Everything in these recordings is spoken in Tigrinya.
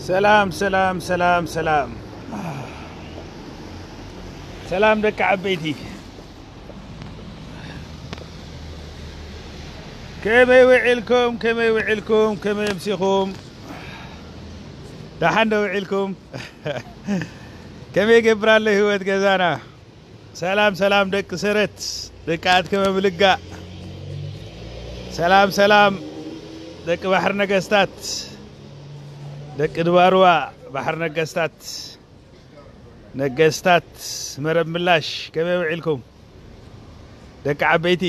ሰላም ሰላም ሰላም ሰላም ሰላም ደቂ ዓበይቲ፣ ከመይ ውዒልኩም? ከመይ ውዒልኩም? ከመይ ኣምሲኹም? ደሓን ዶ ውዒልኩም? ከመይ ይገብር ኣሎ ህይወት ገዛና? ሰላም ሰላም ደቂ ሰረት፣ ደቂ ኣትከመ ምልጋእ። ሰላም ሰላም ደቂ ባሕሪ ነገስታት፣ ደቂ ድባርዋ ባሕሪ ነገስታት፣ ነገስታት መረብ ምላሽ፣ ከመይ ውዒልኩም ደቂ ዓበይቲ?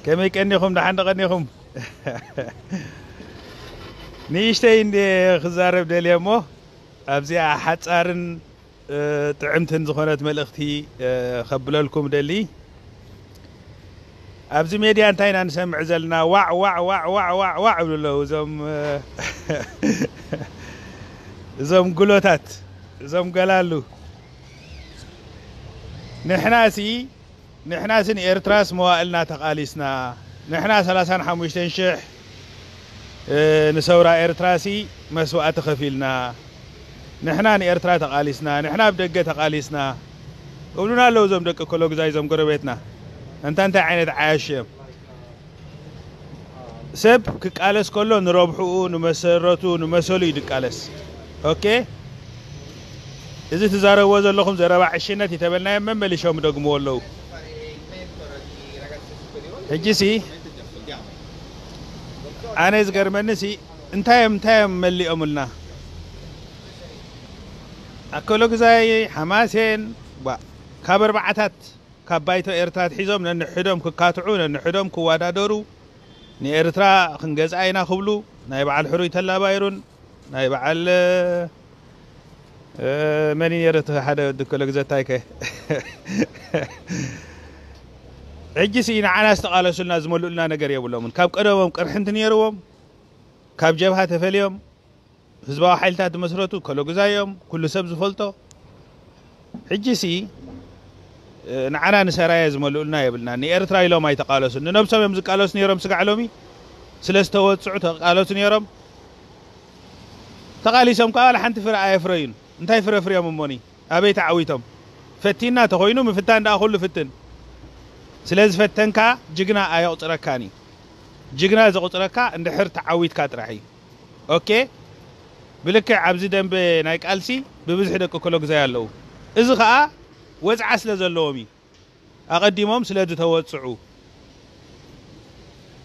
ከመይ ቀኒኹም? ደሓን ዶ ቀኒኹም? ንእሽተይ እንደ ክዛረብ ደልየ እሞ ኣብዚኣ ሓጻርን ጥዕምትን ዝኾነት መልእኽቲ ከብለልኩም ደሊ። ኣብዚ ሜድያ እንታይ ኢና ንሰምዕ ዘለና? ዋዕ ዋዕ ዋዕ ዋዕ ዋዕ ዋዕ ይብሉ ኣለዉ እዞም እዞም ጉሎታት፣ እዞም ገላሉ። ንሕናሲ ንሕናሲ ንኤርትራስ መዋእልና ተቓሊስና። ንሕና ሰላሳን ሓሙሽተን ሽሕ ንሰውራ ኤርትራሲ መስዋእቲ ከፊልና። ንሕና ንኤርትራ ተቓሊስና፣ ንሕና ኣብ ደገ ተቓሊስና እብሉና ኣለዉ እዞም ደቂ ኮሎግዛይ፣ እዞም ጎረቤትና። እንታ እንታይ ዓይነት ዓያሽ እዮም? ሰብ ክቃለስ ከሎ ንረብሕኡ፣ ንመሰረቱ፣ ንመሰሉ እዩ ድቃለስ። ኦኬ፣ እዚ ትዛረብዎ ዘለኹም ዘረባ ዕሽነት ይተበልናዮም መመሊሾም ይደግምዎ ኣለዉ። ሕጂሲ ኣነ ዝገርመኒሲ እንታይ እዮም እንታይ እዮም መሊኦምልና? ኣከሎግዛይ፣ ሓማሴን፣ ዋ፣ ካብ ኣርባዓታት ካብ ባይቶ ኤርትራ ኣትሒዞም ነንሕዶም ክካትዑ፣ ነንሕዶም ክወዳደሩ፣ ንኤርትራ ክንገዝኣ ኢና ክብሉ፣ ናይ በዓል ሕሩይ ተላባይሩን ናይ በዓል መን ነይሩ እቲ ሓደ ወዲ ኮሎግዘታይከ? ሕጂ ሲ ንዓና ዝተቓለሱልና ዝመልኡልና ነገር የብሎምን። ካብ ቀደሞም ቅርሕንቲ ነይርዎም፣ ካብ ጀብሃ ተፈልዮም ህዝባዊ ሓይልታት ዝመስረቱ ኮሎግዛይ እዮም፣ ኩሉ ሰብ ዝፈልጦ። ሕጂ ሲ ንዓና ንሰራየ ዝመልኡልና የብልና። ንኤርትራ ኢሎም ኣይተቃለሱን፣ ንነብሶም እዮም ዝቃለሱ ነይሮም። ስጋዕ ሎሚ ስለ ዝተወጽዑ ተቃለሱ ነይሮም። ተቃሊሶም ከዓ ዋላ ሓንቲ ፍረ ኣየፍረዩን። እንታይ ፍረ ፍርዮም እሞኒ? ኣበይ ተዓዊቶም? ፈቲና ተኾይኑ ምፍታን ደኣ ኩሉ ፍትን። ስለ ዝፈተንካ ጅግና ኣየቑጽረካን እዩ። ጅግና ዘቑጽረካ እንድሕር ተዓዊትካ ጥራሕ እዩ። ኦኬ፣ ብልክዕ ኣብዚ ደንበ ናይ ቃልሲ ብብዝሒ ደቂ ኮሎግዛይ ኣለዉ። እዚ ኸኣ ወጽዓ ስለ ዘለዎም እዩ። ኣቐዲሞም ስለ ዝተወጽዑ፣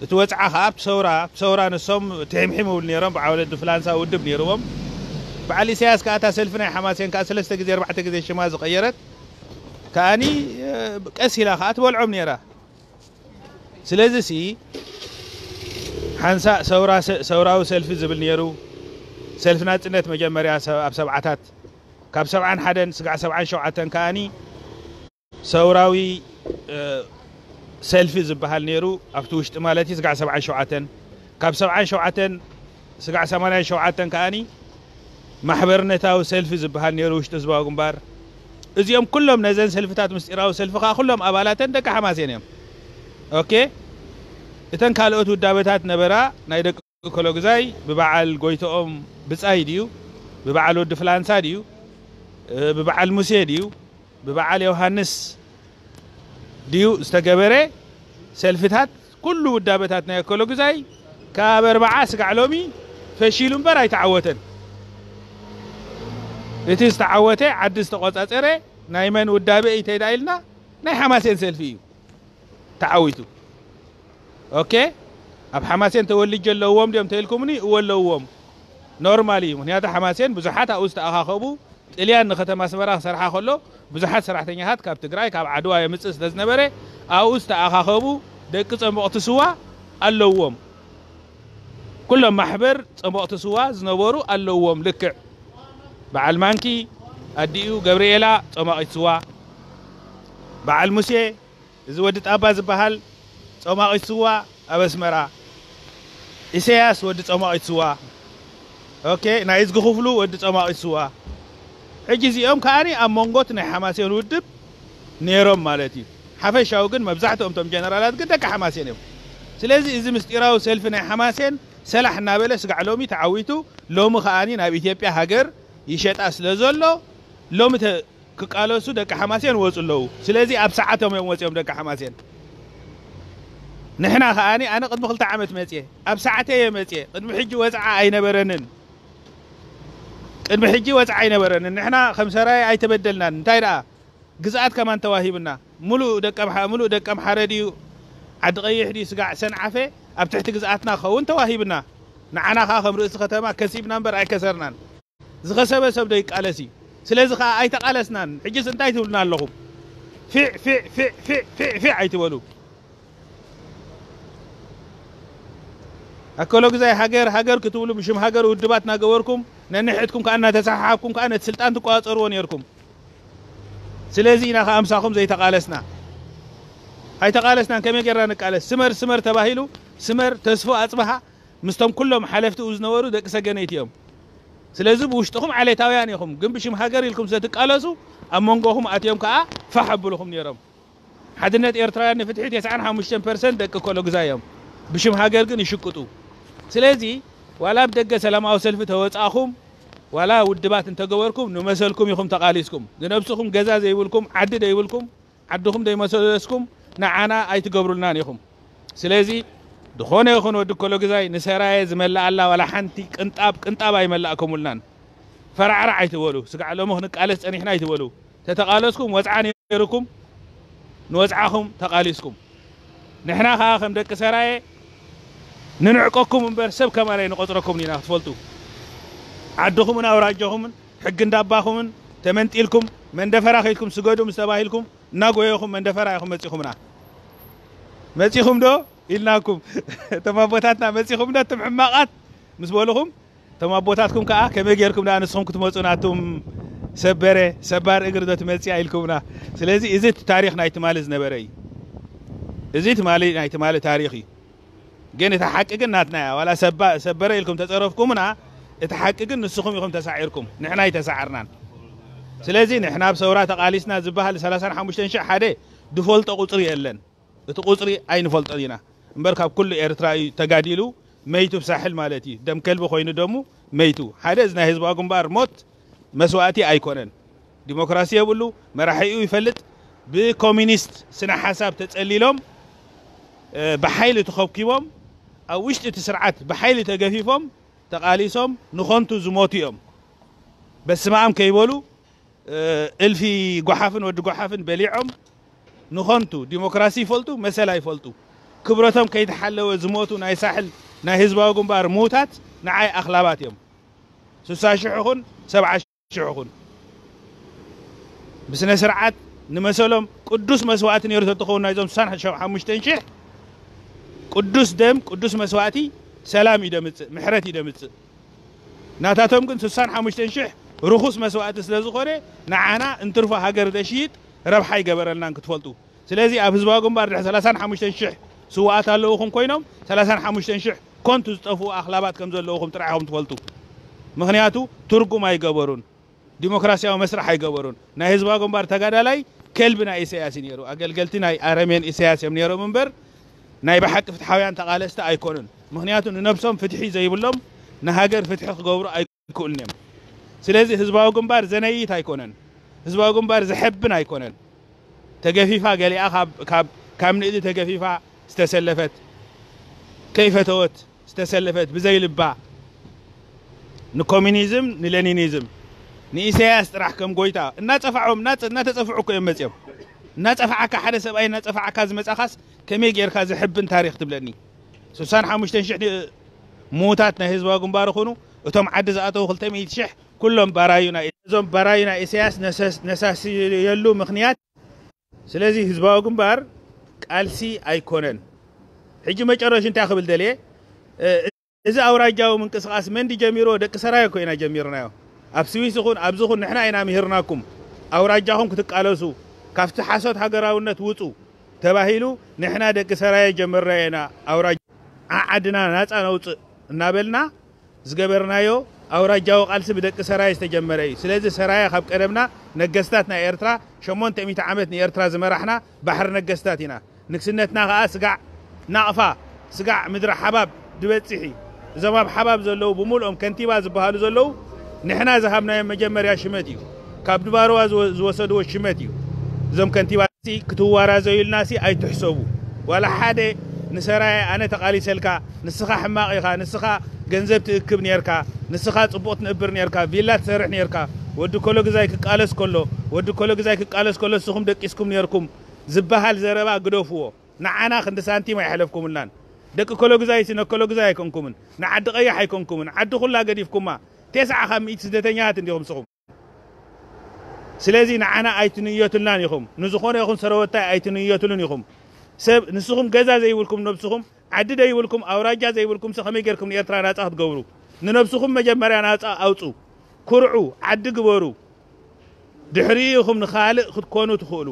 እቲ ወጽዓ ኸኣ ኣብቲ ሰውራ፣ ኣብቲ ሰውራ ንሶም ትሒምሒም ይብሉ ነይሮም። በዓል ወለዲ ፍላንሳ ውድብ ነይርዎም። በዓል ኢሳያስ ከኣ እታ ሰልፊ ናይ ሓማሴን ከኣ ሰለስተ ግዜ ኣርባዕተ ግዜ ሽማ ዝቐየረት ከኣኒ፣ እ፣ ቀስ ኢላ ኸኣ ትበልዖም ነይራ። ስለዚ ሲ ሓንሳእ ሰውራ፣ ሰ-፣ ሰውራዊ ሰልፊ ዝብል ነይሩ። ሰልፊ ናጽነት መጀመርያ ሰ-፣ ኣብ ሰብዓታት፣ ካብ ሰብዓን ሓደን ስጋዕ ሰብዓን ሸውዓተን ከኣኒ ሰውራዊ፣ እ፣ ሰልፊ ዝበሃል ነይሩ። ኣብቲ ውሽጢ ማለት እዩ፣ ስጋዕ ሰብዓን ሸውዓተን፣ ካብ ሰብዓን ሸውዓተን ስጋዕ ሰማንያን ሸውዓተን ከኣኒ ማሕበርነታዊ ሰልፊ ዝበሃል ነይሩ ውሽጢ ህዝባዊ ግንባር። እዚኦም ኩሎም ነዘን ሰልፍታት ምስጢራዊ ሰልፊ ከኣ ኩሎም ኣባላተን ደቂ ሓማሴን እዮም። ኦኬ፣ እተን ካልኦት ውዳበታት ነበራ ናይ ደቂ ኮሎግዛይ ብበዓል ጎይትኦም ብጻይ ድዩ፣ ብበዓል ወዲ ፍላንሳ ድዩ፣ እ፣ ብበዓል ሙሴ ድዩ፣ ብበዓል ዮሃንስ ድዩ ዝተገበረ ሰልፍታት፣ ኩሉ ውዳበታት ናይ ኮሎግዛይ ካብ ኣርባዓ ስጋዕ ሎሚ ፈሺሉ እምበር ኣይተዓወተን። እቲ ዝተዓወተ፣ ዓዲ ዝተቆጻጸረ ናይ መን ውዳበ እዩ ተይዳ ኢልና፣ ናይ ሓማሴን ሰልፊ እዩ ተዓዊቱ። ኦኬ፣ ኣብ ሓማሴን ተወሊጀ ኣለዎም ድዮም ተይልኩምኒ? እወ ኣለዎም። ኖርማል እዩ። ምኽንያቱ ሓማሴን ብዙሓት ኣብኡ ዝተኣኻኸቡ፣ ጥልያን ንከተማ ኣስመራ ክሰርሓ ከሎ ብዙሓት ሰራሕተኛታት ካብ ትግራይ፣ ካብ ዓድዋ የምጽእ ስለ ዝነበረ፣ ኣብኡ ዝተኣኻኸቡ ደቂ ጸሞቕቲ ስዋ ኣለዎም። ኩሎም ማሕበር ጸሞቕቲ ስዋ ዝነበሩ ኣለዎም። ልክዕ በዓል ማንኪ ኣዲኡ ገብርኤላ ጸማቒት ስዋ፣ በዓል ሙሴ፣ እዚ ወዲ ጣባ ዝበሃል ጸማቒት ስዋ ኣብ ኣስመራ፣ ኢሳያስ ወዲ ጸማቒት ስዋ፣ ኦኬ፣ ናይ እዝጊ ክፍሉ ወዲ ጸማቒት ስዋ። ሕጂ እዚኦም ከኣኒ ኣብ መንጎት ናይ ሓማሴን ውድብ ነይሮም ማለት እዩ። ሓፈሻዊ ግን መብዛሕትኦም እቶም ጀነራላት ግን ደቂ ሓማሴን እዮም። ስለዚ እዚ ምስጢራዊ ሰልፊ ናይ ሓማሴን ሰላሕ እናበለ ስጋዕ ሎሚ ተዓዊቱ ሎሚ ከኣኒ ናብ ኢትዮጵያ ሃገር ይሸጣ ስለ ዘሎ ሎሚ ተ- ክቃለሱ ደቂ ሓማሴን ወፁ ኣለዉ። ስለዚ ኣብ ሰዓቶም እዮም ወፂኦም ደቂ ሓማሴን። ንሕና ከኣኒ ኣነ ቅድሚ ክልተ ዓመት መፅየ፣ ኣብ ሰዓተይ እየ መፅየ። ቅድሚ ሕጂ ወፅዓ ኣይነበረንን። ቅድሚ ሕጂ ወፅዓ ኣይነበረንን። ንሕና ከም ሰራየ ኣይተበደልናን። እንታይ ደኣ ግዝኣት ከማን ተዋሂብና። ሙሉእ ደቀምሓ ሙሉእ ደቀምሓረ ድዩ ዓዲ ቀይሕ ድዩ ስጋዕ ሰንዓፈ ኣብ ትሕቲ ግዝኣትና ክኸውን ተዋሂብና። ንዓና ከዓ ከም ርእሲ ከተማ ከሲብና እምበር ኣይከሰርናን። ዝኸሰበ ሰብ ዶ ይቃለስ እዩ? ስለዚ ከዓ ኣይተቃለስናን። ሕጅስ እንታይ ትብሉና ኣለኹም? ፊዕ ፊዕ ፊዕ ፊዕ ፊዕ ፊዕ ኣይትበሉ። ኣከሎ ግዛይ ሃገር ሃገር ክትብሉ ብሽም ሃገር ውድባት እናገበርኩም ነንሕድኩም ከዓ እናተሰሓሓብኩም ከዓ ነቲ ስልጣን ትቆፃፀርዎ ነርኩም። ስለዚ ኢና ከዓ ምሳኹም ዘይተቃለስና። ኣይተቃለስናን። ከመይ ጌርና ንቃለስ? ስመር ስመር ተባሂሉ ስመር ተስፎ ኣፅብሃ ምስቶም ኩሎም ሓለፍቲኡ ዝነበሩ ደቂ ሰገነይቲ እዮም። ስለዚ ብውሽጥኹም ዓሌታውያን ኢኹም፣ ግን ብሽም ሃገር ኢልኩም ስለትቃለሱ ኣብ መንጎኹም ኣትዮም ከዓ ፋሕ ኣብልኹም ነይሮም። ሓድነት ኤርትራውያን ንፍትሒ ተስዓን ሓሙሽተን ፐርሰንት ደቂ ኮሎግዛ እዮም፣ ብሽም ሃገር ግን ይሽቅጡ። ስለዚ ዋላ ኣብ ደገ ሰላማዊ ሰልፊ ተወጻእኹም ዋላ ውድባት እንተገበርኩም ንመሰልኩም ኢኹም ተቃሊስኩም። ንነብስኹም ገዛ ዘይብልኩም ዓዲ ዘይብልኩም ዓድኹም ዘይመሰለስኩም ንዓና ኣይትገብሩልናን ኢኹም። ስለዚ ዝኾነ ይኹን ወዲ ኮሎግዛይ ንሰራየ ዝመልኣላ ዋላ ሓንቲ ቅንጣብ ቅንጣብ ኣይመላእከሙልናን። ፈራዕራዕ ኣይትበሉ። ስጋዕ ሎሚ ክንቃለስ ጸኒሕና ኣይትበሉ። ተተቃለስኩም ወጽዓ ነይርኩም ንወጽዓኹም ተቃሊስኩም። ንሕና ከዓ ከም ደቂ ሰራየ ንንዕቀኩም እምበር ሰብ ከማን ኣይንቆጽረኩም ኢና ክትፈልጡ። ዓድኹምን ኣውራጃኹምን ሕጊ እንዳባኹምን ተመንጢልኩም መንደፈራ ከይድኩም ስገዱ ምስ ተባሂልኩም እናጎየኹም መንደፈራ ኢኹም መጺኹምና። መጺኹም ዶ ኢልናኩም። እቶም ኣቦታትና መጺኹም ዶ እቶም ሕማቓት ምስ በሉኹም እቶም ኣቦታትኩም ከዓ ከመይ ጌርኩም ደኣ ንስኹም ክትመጹ ናቱም ሰበረ ሰባር እግሪ ዶ ትመጽያ ኢልኩምና። ስለዚ እዚ እቲ ታሪኽ ናይ ትማሊ ዝነበረ እዩ። እዚ ትማሊ ናይ ትማሊ ታሪኽ እዩ። ግን እቲ ሓቂ ግን ናትና እያ። ዋላ ሰባ- ሰበረ ኢልኩም ተጸረፍኩምና እቲ ሓቂ ግን ንስኹም ኢኹም ተሳዒርኩም፣ ንሕና ኣይተሳዓርናን። ስለዚ ንሕና ኣብ ሰውራ ተቃሊስና ዝበሃል ሰላሳን ሓሙሽተን ሽሕ ሓደ ዝፈልጦ ቁጽሪ የለን። እቲ ቁጽሪ ኣይንፈልጦን ኢና እምበር ካብ ኩሉ ኤርትራ እዩ ተጋዲሉ መይቱ ብሳሕል ማለት እዩ። ደም ከልቢ ኮይኑ ደሙ መይቱ። ሓደ እዚ ናይ ህዝባዊ ግንባር ሞት መስዋእቲ ኣይኮነን። ዲሞክራሲ የብሉ፣ መራሒኡ ይፈልጥ። ብኮሚኒስት ስነ ሓሳብ ተጸሊሎም ብሓይሊ ተኸብኪቦም ኣብ ውሽጢ እቲ ስርዓት ብሓይሊ ተገፊፎም ተቃሊሶም ንኾንቱ ዝሞቱ እዮም። በስመኣም ከይበሉ እልፊ ጓሓፍን ወዲ ጓሓፍን በሊዖም ንኾንቱ ዲሞክራሲ ይፈልጡ መሰል ኣይፈልጡ። ክብረቶም ከይተሓለወ ዝሞቱ ናይ ሳሕል ናይ ህዝባዊ ግንባር ምዉታት ንዓይ ኣኽላባት እዮም። ስሳ ሽሕ ይኹን ሰብዓ ሽሕ ይኹን ብስነ ስርዓት ንመሰሎም ቅዱስ መስዋእቲ ነይሩ ተትኸውን ናይዞም ስሳን ሓሙሽተን ሽሕ ቅዱስ ደም ቅዱስ መስዋእቲ ሰላም እዩ ደምፅእ፣ ምሕረት እዩ ደምፅእ። ናታቶም ግን ስሳን ሓሙሽተን ሽሕ ርኹስ መስዋእቲ ስለ ዝኾነ ንዓና እንትርፎ ሃገር ደሽይጥ ረብሓ ይገበረልናን ክትፈልጡ። ስለዚ ኣብ ህዝባዊ ግንባር ድሕሪ ሰላሳን ሓሙሽተን ሽሕ ስዋኣት ኣለውኹም ኮይኖም ሰላሳን ሓሙሽተን ሽሕ ኮንቱ ዝጠፍኡ ኣኽላባት ከም ዘለውኹም ጥራሕ ኢኹም ትፈልጡ። ምኽንያቱ ትርጉም ኣይገበሩን። ዲሞክራሲያዊ መስርሕ ኣይገበሩን። ናይ ህዝባዊ ግንባር ተጋዳላይ ከልቢ ናይ ኢሳያስ እዩ ነይሩ። ኣገልገልቲ ናይ ኣረሜን ኢሳያስ እዮም ነይሮም እምበር ናይ ብሓቂ ፍትሓውያን ተቓለስቲ ኣይኮኑን። ምኽንያቱ ንነብሶም ፍትሒ ዘይብሎም ንሃገር ፍትሒ ክገብሩ ኣይክእሉን እዮም። ስለዚ ህዝባዊ ግንባር ዘነይት ኣይኮነን። ህዝባዊ ግንባር ዘሐብን ኣይኮነን። ተገፊፋ ገሊኣ ካብ ካብ ካብ ንእዲ ተገፊፋ ዝተሰለፈት ከይፈተወት ዝተሰለፈት ብዘይ ልባ ንኮሚኒዝም ንሌኒኒዝም ንኢሳያስ ጥራሕ ከም ጎይታ እናጸፋዖም እናጸ- እናተጸፍዑ እኮ እዮም መጺኦም። እናጸፋዓካ ሓደ ሰብኣይ እናጸፋዓካ ዝመጻኻስ ከመይ ጌርካ ዘሕብን ታሪኽ ትብለኒ? ስሳን ሓሙሽተን ሽሕ ምዉታት ናይ ህዝባዊ ግንባር ይኹኑ እቶም ዓዲ ዝኣተዉ ክልተ ሚእቲ ሽሕ ኩሎም ባራዩ ናይ እዞም ባራዩ ናይ ኢሳያስ ነሰስ- ነሳስየሉ ምኽንያት ስለዚ ህዝባዊ ግንባር ቃልሲ ኣይኮነን። ሕጂ መጨረሽ እንታይ ክብል ደልየ፣ እ፣ እዚ ኣውራጃዊ ምንቅስቃስ መን ጀሚርዎ? ደቂ ሰራየ እኮ ኢና ጀሚርናዮ። ኣብ ስዊስ ይኹን ኣብዚ ይኹን ንሕና ኢና ምሂርናኩም። ኣውራጃኹም ክትቃለሱ ካብቲ ሓሶት ሃገራውነት ውፁ ተባሂሉ ንሕና ደቂ ሰራየ ጀመርናዮ ኢና። ኣውራጃ ዓዓድና ናፃ ነውፅእ እናበልና ዝገበርናዮ ኣውራጃዊ ቃልሲ ብደቂ ሰራየ ዝተጀመረ እዩ። ስለዚ ሰራየ ካብ ቀደምና ነገስታት ናይ ኤርትራ ሸሞንተ ሚእቲ ዓመት ንኤርትራ ዝመራሕና ባሕሪ ነገስታት ኢና። ንግስነትና ከኣ ስጋዕ ናቕፋ ስጋዕ ምድሪ ሓባብ ድበጽሕ እዩ። እዞም ኣብ ሓባብ ዘለዉ ብምልኦም ከንቲባ ዝበሃሉ ዘለዉ ንሕና ዝሃብናዮም መጀመርያ ሽመት እዩ። ካብ ድባርዋ ዝወ- ዝወሰድዎ ሽመት እዩ። እዞም ከንቲባ ክትዋራዘዩ ኢልና ሲ ኣይትሕሰቡ። ዋላ ሓደ ንሰራየ ኣነ ተቓሊሰልካ፣ ንስኻ ሕማቕ ኢኻ፣ ንስኻ ገንዘብ ትእክብ ነርካ፣ ንስኻ ጽቡቕ ትነብር ነርካ፣ ቪላ ትሰርሕ ነርካ፣ ወዲ ኮሎ ግዛይ ክቃለስ ከሎ፣ ወዲ ኮሎ ግዛይ ክቃለስ ከሎ ንስኹም ደቂስኩም ነርኩም ዝበሃል ዘረባ ግደፍዎ። ንዓና ክንዲ ሳንቲም ኣይሕለፍኩምልናን። ደቂ ኮሎ ግዛይ ሲ ነኮሎ ግዛይ ኣይኮንኩምን፣ ንዓዲ ቀያሕ ኣይኮንኩምን። ዓዲ ኩላ ገዲፍኩማ። ተስዓ ካብ ሚእቲ ስደተኛታት እንዲኹም ንስኹም። ስለዚ ንዓና ኣይትንየቱልናን ኢኹም። ንዝኾነ ይኹን ሰረወታይ ኣይትንየቱሉን ኢኹም። ሰብ ንስኹም ገዛ ዘይብልኩም ነብስኹም፣ ዓዲ ዘይብልኩም፣ ኣውራጃ ዘይብልኩም ሲ ከመይ ጌርኩም ንኤርትራ ናጻ ክትገብሩ? ንነብስኹም መጀመርያ ናጻ ኣውጹ። ኩርዑ፣ ዓዲ ግበሩ። ድሕሪኡ ኢኹም ንኻልእ ክትኮኑ ትኽእሉ።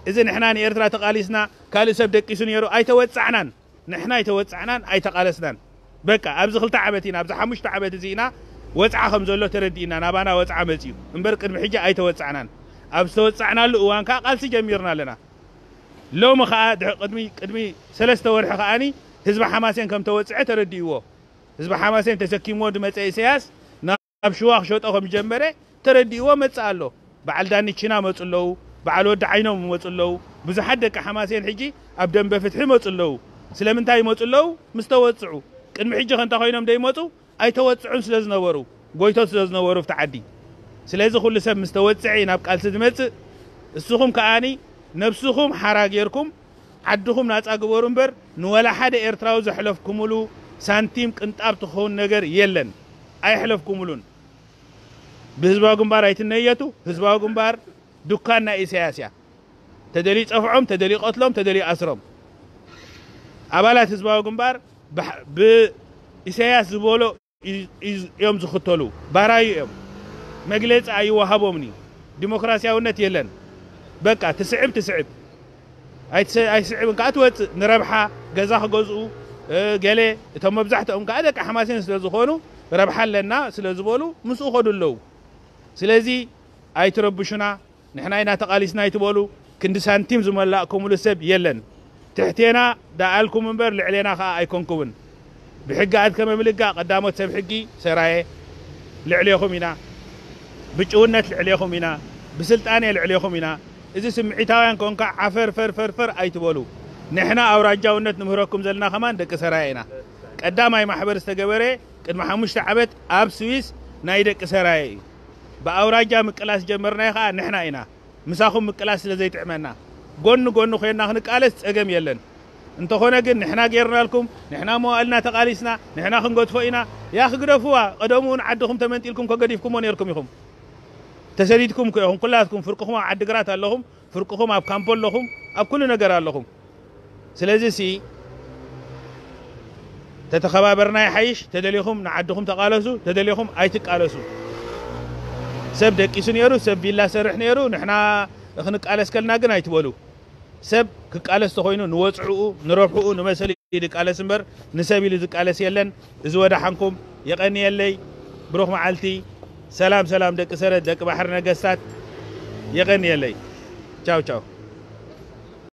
እዚ ንሕና ንኤርትራ ተቓሊስና ካልእ ሰብ ደቂሱ ነይሩ ኣይተወጻዕናን። ንሕና ኣይተወጻዕናን ኣይተቓለስናን። በቃ ኣብዚ ክልተ ዓመት ኢና፣ ኣብዚ ሓሙሽተ ዓመት እዚ ኢና ወጽዓ ከም ዘሎ ተረዲእና ናባና ወጽዓ መጽዩ እምበር ቅድሚ ሕጂ ኣይተወጻዕናን። ኣብ ዝተወጻዕናሉ እዋን ከኣ ቃልሲ ጀሚርና ኣለና። ሎሚ ከኣ ድሕ- ቅድሚ ቅድሚ ሰለስተ ወርሒ ከኣኒ ህዝቢ ሓማሴን ከም ተወጽዐ ተረዲእዎ። ህዝቢ ሓማሴን ተሰኪምዎ ዝመጸ ኢሳያስ ናብ ሽዋ ክሸጦ ከም ጀመረ ተረዲእዎ መጽእ ኣሎ። በዓል ዳኒ ቺና መጹ ኣለዉ፣ በዓል ወዲ ዓይኖም ይመጹ ኣለዉ። ብዙሓት ደቂ ሓማሴን ሕጂ ኣብ ደንበ ፍትሒ ይመጹ ኣለዉ። ስለምንታይ ይመጹ ኣለዉ? ምስ ተወጽዑ። ቅድሚ ሕጂ ከ እንታይ ኮይኖም ደይመጹ? ኣይተወጽዑን ስለ ዝነበሩ፣ ጎይቶት ስለ ዝነበሩ ኣብቲ ዓዲ። ስለዚ ኩሉ ሰብ ምስ ተወጽዐ እዩ ናብ ቃልሲ ዝመጽእ። እስኹም ከኣኒ ነብስኹም ሓራ ጌርኩም ዓድኹም ናጻ ግበሩ እምበር ንወላ ሓደ ኤርትራዊ ዘሕለፍኩምሉ ሳንቲም ቅንጣብ ትኸውን ነገር የለን። ኣይሕለፍኩምሉን። ብህዝባዊ ግንባር ኣይትነየቱ። ህዝባዊ ግንባር ዱካን ናይ ኢሳያስ እያ። ተደልዩ ጸፍዖም፣ ተደልዩ ቀትሎም፣ ተደልዩ ኣስሮም። ኣባላት ህዝባዊ ግንባር ብሓ- ብኢሳያስ ዝበሎ እዩ- እዩ- እዮም ዝኽተሉ። ባራዩ እዮም። መግለጺ ኣይወሃቦምን እዩ። ዲሞክራሲያውነት የለን። በቃ ትስዕብ ትስዕብ። ኣይትሰ- ኣይስዕብን ከኣ ትወጽእ። ንረብሓ ገዛ ክገዝኡ፣ እ፣ ገለ እቶም መብዛሕትኦም ከኣ ደቂ ሓማሴን ስለ ዝኾኑ ረብሓ ኣለና ስለ ዝበሉ ምስኡ ከዱ ኣለዉ። ስለዚ ኣይትረብሹና፣ ንሕና ኢና ተቓሊስና ኣይትበሉ። ክንዲ ሳንቲም ዝመላእኩምሉ ሰብ የለን። ትሕቴና ደኣልኩም እምበር ልዕሌና ከኣ ኣይኮንኩምን። ብሕጊ ኣድከመ ምልጋ ቀዳሞት ሰብ ሕጊ ሰራየ ልዕሌኹም ኢና። ብጭውነት ልዕሌኹም ኢና። ብስልጣኔ ልዕሌኹም ኢና። እዚ ስምዒታውያን ኮንካ ዓፈር ፈር ፈር ፈር ኣይትበሉ። ንሕና ኣውራጃውነት ንምህረኩም ዘለና ከማን ደቂ ሰራየ ኢና። ቀዳማይ ማሕበር ዝተገበረ ቅድሚ ሓሙሽተ ዓመት ኣብ ስዊስ ናይ ደቂ ሰራየ እዩ። ብኣውራጃ ምቅላስ ጀመርናዮ ከኣ ንሕና ኢና። ምሳኹም ምቅላስ ስለ ዘይጥዕመና ጎኒ ጎኒ ኮይንና ክንቃለስ ጸገም የለን። እንተኾነ ግን ንሕና ጌርናልኩም፣ ንሕና መዋእልና ተቓሊስና፣ ንሕና ክንገድፎ ኢና። ያ ክግደፍዋ፣ ቀደሙውን ዓድኹም ተመንጢልኩም ከገዲፍኩሞ ኔርኩም ኢኹም። ተሰዲድኩም እኮ ኢኹም፣ ኩላትኩም ፍርቅኹም ኣብ ዓዲግራት ኣለኹም፣ ፍርቅኹም ኣብ ካምፖ ኣለኹም፣ ኣብ ኩሉ ነገር ኣለኹም። ስለዚ ሲ ተተኸባበርና ይሓይሽ። ተደሊኹም ንዓድኹም ተቓለሱ፣ ተደሊኹም ኣይትቃለሱ። ሰብ ደቂሱ ነይሩ፣ ሰብ ቪላ ሰርሕ ነይሩ፣ ንሕና ክንቃለስ ከልና ግን ኣይትበሉ። ሰብ ክቃለስ ተኾይኑ ንወጽዕኡ፣ ንረብሕኡ፣ ንመሰሉ እዩ ዝቃለስ እምበር ንሰብ ኢሉ ዝቃለስ የለን። እዚ ወደሓንኩም። የቐንየለይ። ብሩኽ መዓልቲ። ሰላም ሰላም ደቂ ሰረት፣ ደቂ ባሕሪ ነገስታት። የቐንየለይ። ቻው ቻው።